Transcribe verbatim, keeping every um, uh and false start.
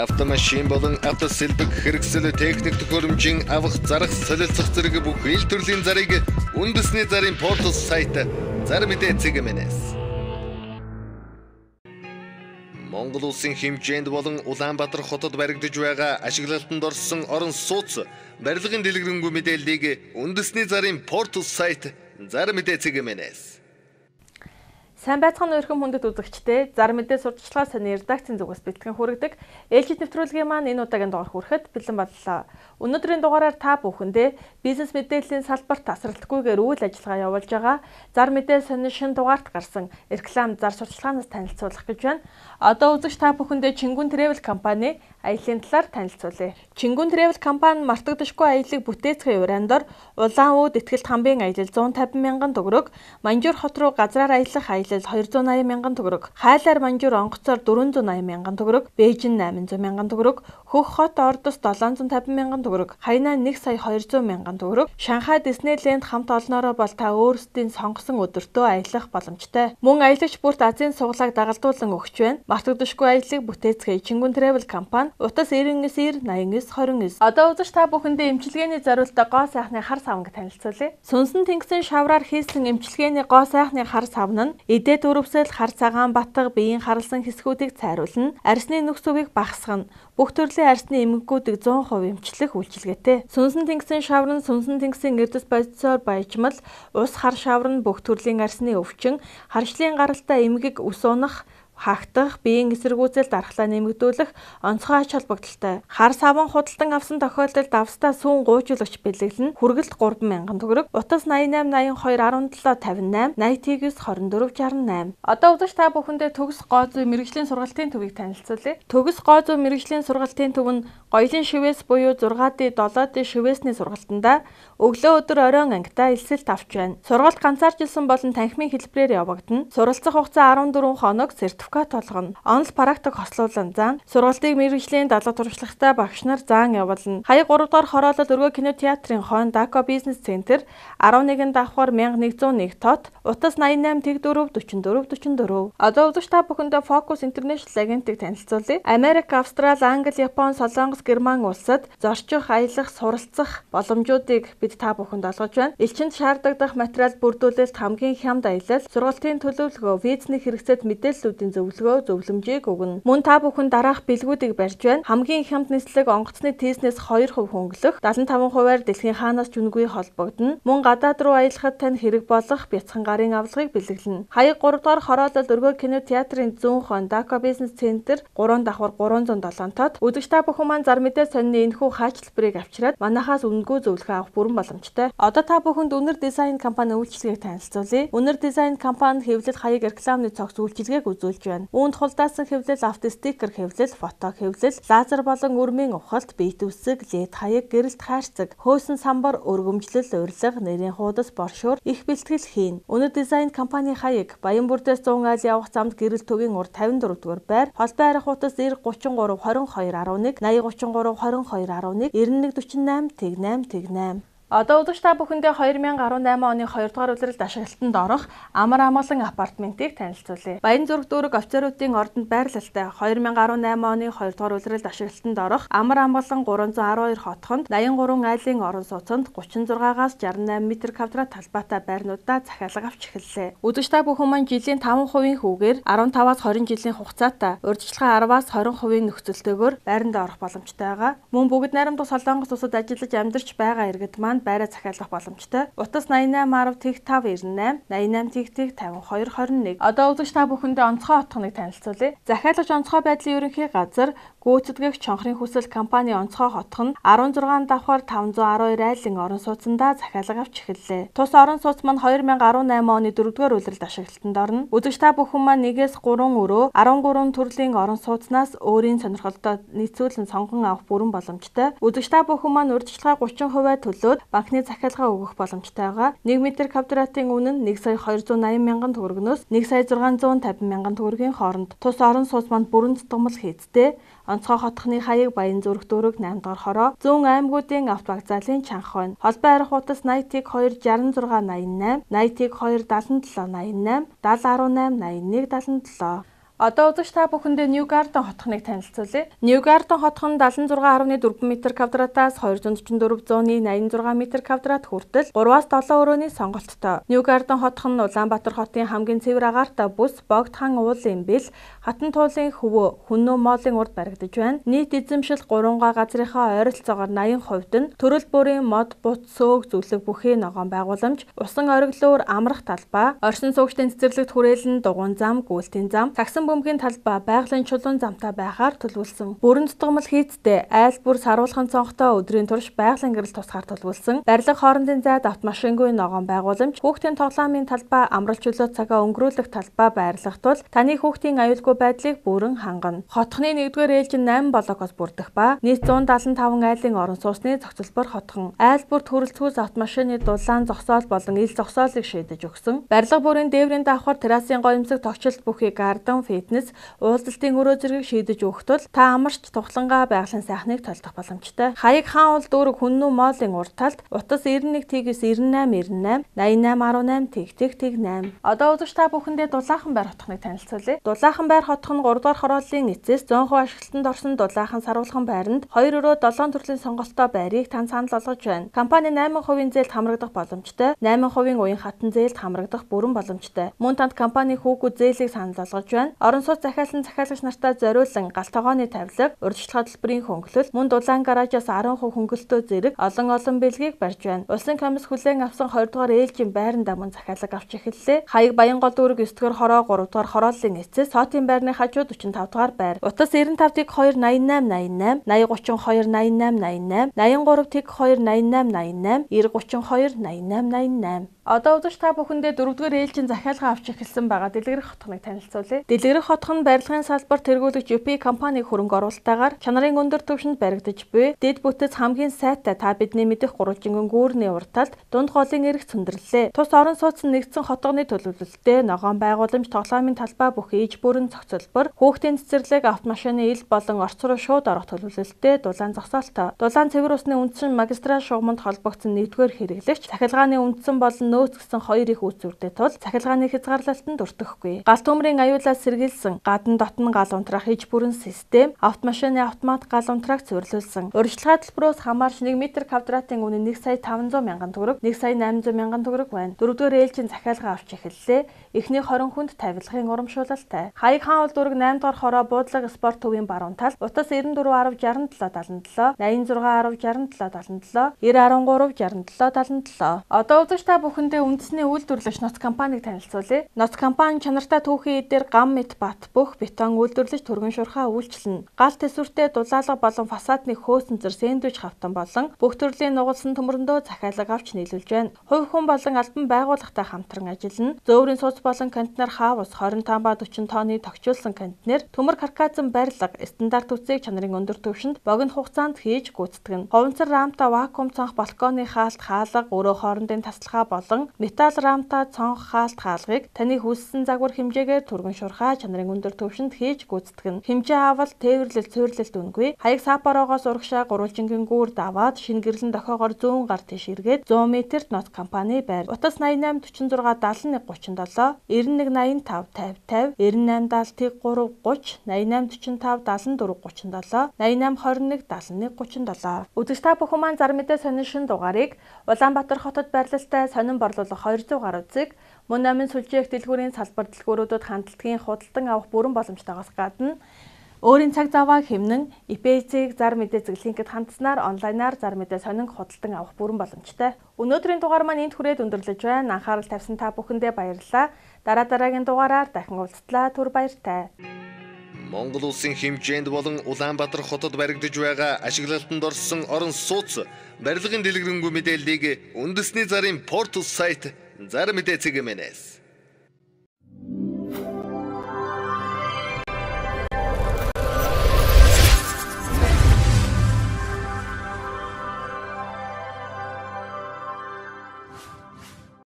автомашин болон автосэлбэг хэрэгсэл техник төхөөрөмжийн авах зарах солилцох зэрэг бүх ил төрлийн зарыг үндэсний зарын портал сайт Зар мэдээ цэгмэнэс. Монгол улсын хэмжээнд болон Улаанбаатар хотод баригдаж байгаа ашиглалтанд орсон орон сууц барилгын дэлгэрэнгүй мэдээллийг үндэсний зарын портал сайт Зар мэдээ цэгмэнэс. Сайн байцгаана өрхөм хүндэт үзэгчдээ Зар мэдээ сурталчилгаа сони редакцийн зүгээс бэлтгэн хүргэдэг ээлжид нэвтрүүлгийн маань энэ удаагийн дугаар хүрэхэд бэлэн боллоо. Өнөөдрийн дугаараар та бүхэндээ бизнес мэдээллийн салбарт тасралтгүйгээр үйл ажиллагаа явуулж байгаа Зар мэдээ сони шинэ дугаарт гарсан реклам зар сурталчилгаанаас танилцуулах гэж байна. Одоо үзэгч та бүхэндээ Чингүн Travel компани аяллаа талаар танилцуулъя. Чингүн Travel компани мартагдашгүй аяллыг бүтээцгийн урандор Улаан үүд этгэлт хамбын аялал зуун тавин мянган төгрөг, Манжуур хот руу газраар аялах аялал хоёр зуун аян мянган төгрөг, Хайлаар Манжуур онгоцоор дөрвөн зуун аян мянган төгрөг, Бээжин найман зуун мянган төгрөг, Хөх хот Ордос долоон зуун тавин мянган төгрөг, Хайнаа нэг сая хоёр зуун мянган төгрөг, Шанхай Диснейленд хамт олноороо бол та өөрсдийн сонгосон өдөртөө аялах боломжтой. Мөн аялагч бүрт Азийн суглааг дагалдуулан өгч байна. Мартагдашгүй аяллыг бүтээцгээе Чингүн Travel компани утас девять девять найман девять29. Одоо үзэж та бүхэндээ эмчилгээний зориултаа гоо сайхны хар савнг танилцуулъя. Сүнсэн тэнгисийн шавраар хийсэн эмчилгээний гоо сайхны хар савн нь эдээ дөрвсөл, хар цагаан батга, биеийн харалсан хэсгүүдийг цайруулна, арсны нүкс өвийг багасгана. Бүх төрлийн арсны эмгэгүүдийг зуун хувь эмчлэх үйлчилгээтэй. Сүнсэн тэнгисийн шавар нь сүнсэн тэнгисийн эрдэс бодисоор баяжмал, ус хар шавар нь бүх төрлийн арсны өвчин, харшлын гаралтай эмгэг ус унах, хаагтах, биеийн эсэргүүцэл дархлаа нэмэгдүүлэх онцгой ач холбогдолтой. Хар саван худалдан авсан тохиолдолд австаа сүүн гуйжуулагч бэлэглэн хүргэлт гурван мянган төгрөг, утас найман восемь82 17 58 восемь девять двадцать четыре шестьдесят восемь. Одоо үзэж та бүхэндээ төгс гоо зүй мэрэгжлийн сургалтын төвийг танилцуулъя. Төгс гоо зүй мэрэгжлийн сургалтын төв нь Гоёлын шивээс буюу зургаан ди долоо ди шивээсний сургалтандаа өглөө өдөр оройн ангидаа элсэлт авч байна. Сургалт ганцаарчилсан болон танхимын хэлбэрээр явагдана. Суралцах хугацаа арван дөрвөн хоног, сертификат толгоно. Онл практик хослуулан зан. Сургалтыг мэрэгжлийн дадлаг туршлагатай багш нар заан явуулна. Хаяг гурав дахь хороолол өргөө кино театрын хон Дако бизнес центр арван нэгэн давхар мянга нэгдүгээр нэг тот, утас найман восемь дөрвөн дөрвөн дөрвөн дөрвөн дөрвөн. Одоо үзэж та бүхэндээ Focus International агентыг танилцуулъя. Америк, Австрали, Англи, Япон, Солонгос, Герман улсад зорчих, аялах, суралцах боломжуудыг бид та бүхэнд олгож байна. Элчинд шаардлагадах материал бүрдүүлэлт, хамгийн хямд аялал, сургалтын төлөвлөгөө, визний хэрэгцээт мэдээллүүдийн зөвлөгөө, зөвлөмжийг өгнө. Мөн та бүхэн дараах бэлгүүдийг барьж байна. Хамгийн хямд нислэг онгоцны тийснээс two хувь хөнгөлөх, седемдесет и пять хувиар дэлхийн хаанаас ч үнэгүй холбогдно. Мөн гадаад руу аялахад тань хэрэг болох бяцхан гарын авлагыг бэлэглэнэ. Хаяг гурав дахь хороолол өргөө кино театрын зүүн хон Дако бизнес центр гурван давхар гурван зуун долоон тот. Үзэгч та бүхэн маань Зар мэдээ сонины энэхүү хаачлбарыг авчираад манахаас үнэгүй зөвлөгөө авах бүрэн боломжтой. Одоо та бүхэнд Үнэр дизайн компани үйлчилгээг танилцуулъя. Үнэр дизайн компани хэвлэл хаяг рекламны цогц үйлчилгээг үзүүлж байна. Үүнд хулдаасан хэвлэл, автостикер хэвлэл, фото хэвлэл, лазер болон өрмийн ухалт, бие дүсэг, лед хаяг, гэрэлт хайрцаг, хөөсөн самбар, өргөмжлөл, урилга, нэрийн хуудас, боршуур их бэлтгэл хийн. Үнэр дизайн компани хаяг Баян бүрдээс цуун айл явах замд гэрэл төвийн урд тавин дөрөв дугаар байр, холбоо арих утас эр гучин гурав двадцать two eleven, восемь гучин гурав двадцать two eleven, ninety one forty-eight eight eight. Одоо үзэгч та бүхэндээ two thousand eighteen оны хоёр дахь улиралд ашиглалтанд орох амар амгалан апартментыг танилцуулъя. Баян зүрх дүүрэг офицеруудын ордонд байрлалтай two thousand eighteen оны хоёр дахь улиралд ашиглалтанд орох амар амгалан three one two хотхонд eighty-three айлын орон сууцнд thirty-six-аас sixty-eight м квадрат талбайтай байрнуудаа захиалга авч эхэллээ. Үзэгч та бүхэн маань жилийн five percent хүүгээр fifteen-аас twenty жилийн хугацаатай урьдчилан ten-аас twenty percent нөхцөлтэйгээр байранд орох боломжтой байгаа. Мөн бүгд найрамдах Солонгос улсад ажиллаж амьдарч байгаа иргэд маань байраа захиалах боломжтой. Утас eighty-eight five ninety-eight eighty-eight fifty-two twenty-one. Одоо үзэгч та бүхэндээ онцгой хотхоныг танилцуулъя. Захиалагч онцгой байдлын ерөнхий газар гүйцэтгэгч чонхрын хүсэл компани онцгой хотхон sixteen давхар five one two айлын орон сууцндаа захиалга авч эхэллээ. Тус орон сууц маань two thousand eighteen оны дөрөвдүгээр улиралд ашиглалтанд орно. Үзэгч та бүхэн маань one-ээс three өрөө thirteen төрлийн орон сууцнаас өөрийн сонирхолтой нийцүүлэн сонгон авах бүрэн боломжтой. Үзэгч та бүхэн маань урьдчилгаа thirty percent төлөөд банкны захиалга өгөх боломжтой байгаа. one м квадратын үнэ нь one сая two hundred eighty мянган төгрөгнөөс one сая six hundred fifty мянган төгрөгийн хооронд. Тус орон сууц маань бүрэн тутамл хийцтэй. Онцгой хотхны хаяг Баян зүрх дүүрэг eight дахь хороо, зүүн аймагуудын авто вокзалын чанх байна. Холбоо арих утас ninety-two sixty-six ninety-eight, ninety-two seventy-seven ninety-eight, seventy eighteen ninety-one seventy-one seventy-one. Одоо үзэгч та бүхэндээ Ньюгарден хотхоныг танилцуулъя. Ньюгарден хотхон далайн зургаан арван дөрвөн метр квадратаас хоёрзуун дөрвөн дөрвөн зууны найман зургаан метр квадрат хүртэл гураваас долоон өрөөний сонголттой. Ньюгарден хотхон Улаанбаатар хотын хамгийн цэвэр агаартай бүс Богдхан уулын бэл хатан туулын хөвөө Хүннөө моолын урд баригдаж байна. Нийт эзэмшил гурван га газрынхаа ойролцоогоор восемь хувьд нь төрөл бүрийн мод, бут, сөөг, зүлэг бүхий ногоон байгууламж, усан ориглоор амрах талбай, оршин суугчдын цэцэрлэгт хүрээлэн дугуйн зам, гүйлтийн зам, таксан бөмбөгийн талбай, байгалийн чулуун замтай байхаар төлөвлөсөн. Бүрэн тутамл хийцтэй айл бүр саруулхан цонхтой өдрийн турш байгалийн гэрэл тусгаар төлөвлөсөн. Барилга хоорондын зайд автомашингүй ногоон байгууламж, хүүхдийн тоглоомын талбай, амралт чөлөө цагаа өнгөрүүлэх талбай байрлах тул таны хүүхдийн аюулгүй байдлыг бүрэн хангана. Хотхны нэгдүгээр ээлжин найман блокоос бүрдэх ба нийт зуун далайн таван айлын орон сууцны зохицолбор хотхон. Айл бүр төрөлцгөөс автомашины дулаан зогсоол болон ил зогсоолыг шийдэж өгсөн. Барилга бүрийн дээврийн давхар террасын гоёмсог тогтчлт бүхий гарден, фитнес, уулзалтын өрөө зэргийг шийдэж өгөх тул та амарч тухлангаа байгалийн сайхныг толдох боломжтой. Хаяг хаан уул дүүрэг Хүннөө моолын урд талд утас девять тэгээс девять найман, восемь, восемь десять, тэг восемь. Одоо үзэгч та бүхэндээ Дулаахан байр хотхоныг танилцуулъя. Дулаахан байр хотхон гурав дахь хорооллын эцэс зөөн хувь ашиглалтанд орсон Дулаахан саруулхан байранд хоёр өрөө долоон төрлийн сонголттой байрыг тань санал болгож байна. Компани найман хувийн зээлд хамрагдах боломжтой, найман хувийн уян хатан зээлд хамрагдах бүрэн боломжтой. Мөн танд компани хүүгүүд зээлийг санал болгож байна. Орон сууц захиалсан захиалагч нартай зориулсан галт тогооны тавилга, урьдчилан хөтөлбөрийн хөнгөлөлт, мөн дулаан гаражаас десять хувь хөнгөлөлтөө зэрэг олон олон бэлгийг барьж байна. Улсын комисс хүлээн авсан хоёр дугаар ээлжийн байранда мөн захиалга авч эхэллээ. Хаяг Баянгол дүүрэг девять дугаар хороо гурав дугаар хорооллын эцэс Сотын байрны хажууд forty-five дугаар байр. Утас девяносто пять тэг two восемь восемь, eighty thirty-two восемь nine eight nine, eighty-three тэг eighty восемь nine eight nine, ninety-nine thirty-two ninety-nine. Одоо үзэгч та бүхэндээ дөрөвдүгээр ээлжийн захиалга авч эхэлсэн байгаа дэлгэрэх хотхоныг танилцуулъя. Дэлгэрэх хотхон барилгын салбар тэргүүлэгч ю пи компани хөрөнгө оруулалтаагаар чанарын өндөр түвшинд баригдаж буй дэд бүтэц хамгийн сайтай та бидний мэдих гурвалжингын гүүрний урд талд дунд голын эрх цөндөрлөлээ. Тус орон сууц нь нэгдсэн хотгоны төлөвлөлттэй ногоон байгууламж тоглоомын талбай бүх ээж бүрэн зохицолбор, хүүхдийн цэцэрлэг, автомашины ил болон орц руу шууд орох төлөвлөлттэй дулаан зогсоолтой. Дулаан цэвэр усны үндсэн магистраль шугамд холбогдсон нэгдүгээр хэрэглэгч цахилгааны үндсэн болон нөөцгсөн хоёр их үүсвэртэй тул цахилгааны хязгаарлалтанд өртөхгүй. Галт төмрийн аюулаас сэргийлсэн гадна дотн гал унтраах иж бүрэн систем, автомашины автомат гал унтрааг цэвэрлүүлсэн. Урьдчилгаа төлбөрөөс хамаарч one метр квадратын үнэ one сая five hundred мянган төгрөг, one сая eight hundred мянган төгрөг байна. Дөрөвдүгээр ээлжийн захиалга авч эхэллээ. Эхний twenty хүнд тавилгын урамшуулалтай. Хаяг хаан уул дүүрэг eight дугаар хороо буудлага спорт төвийн баруун тал, утас ninety-four ten sixty-seven seventy-seven, eighty-six sixty-seven seventy-seven, ninety-three sixty-seven seventy-seven. Одоо үзэгч та бүхэндээ үндэсний үйлдвэрлэгч ноц компаниг танилцуулъя. Ноц компани чанартай түүхийн эдээр гам мэт бат бүх бетон үйлдвэрлэж түргэн шурхаа үйлчилнэ. Гал тэсвэртэй дулаалга болон фасадны хөөцөнцөр сэндвич хавтан болон бүх төрлийн нугалсан төмөрөндөө захиалга авч нийлүүлж байна. Хувь хүн болон албан байгууллагатай хамтран ажиллана. Зөөврийн сууц болон контейнер хаус twenty-five ба forty тонны тогтчулсан контейнер, төмөр карказан барилга, стандарт үсэг чанарын өндөр түвшинд богино хугацаанд хийж гүйцэтгэнэ. Хуванцар рамта вакуум цонх балконы хаалт хаалга, өрөө хоорондын таслахаа болон металл рамта цонх хаалт хаалгыг таны хүссэн загвар хэмжээгээр түргэн шурхаа чанарын өндөр түвшинд хийж гүйцэтгэнэ. Хэмжээ авал, тээвэрлэл, цэвэрлэлт үнгүй. Хаяг сапароогоос урагшаа гурвалжингийн гүүр даваад шинэ гэрлэн дохоогоор one hundred гар тийш эргээд one hundred метрт ноц компани байр. Утас ninety-eight forty-six seventy-one thirty-seven, ninety-nine ninety-five fifty, ninety-eight seventy-three thirty, ninety-eight forty-five seventy-four, ninety-nine twenty-one seventy-one thirty-seven. Үзэгч та бүхэн маань зар мэдээ сонин шин дугаарыг Улаанбаатар хотод байрлалтай сонин борлуулах two hundred гаруй үзэг, мөн намын сүлжээх дэлгүүрийн салбар дэлгүүрүүдэд хандлтгийн худалдан авах бүрэн боломжтойгоос гадна өөрийн цаг заваа хэмнэн и пи эс-ийг зар мэдээ зэглэнхэд хандсанаар онлайнаар зар мэдээ сонин худалдан авах бүрэн боломжтой. Өнөөдрийн дугаар маань энд хүрээд өндөрлөж байна. Анхаарал тавьсан та бүхэндээ баярлалаа. Дараа дараагийн дугаараар дахин уулзтлаа. Түр баяртай. Монгол улсын хэмжээнд болон Улаанбаатар хотод баригдаж байгаа ашиглалтанд орсон орон сууц барилгын дэлгэрэнгүй мэдээллийг үндэсний зарын портал сайт Зар мэдээ цэг мэнэс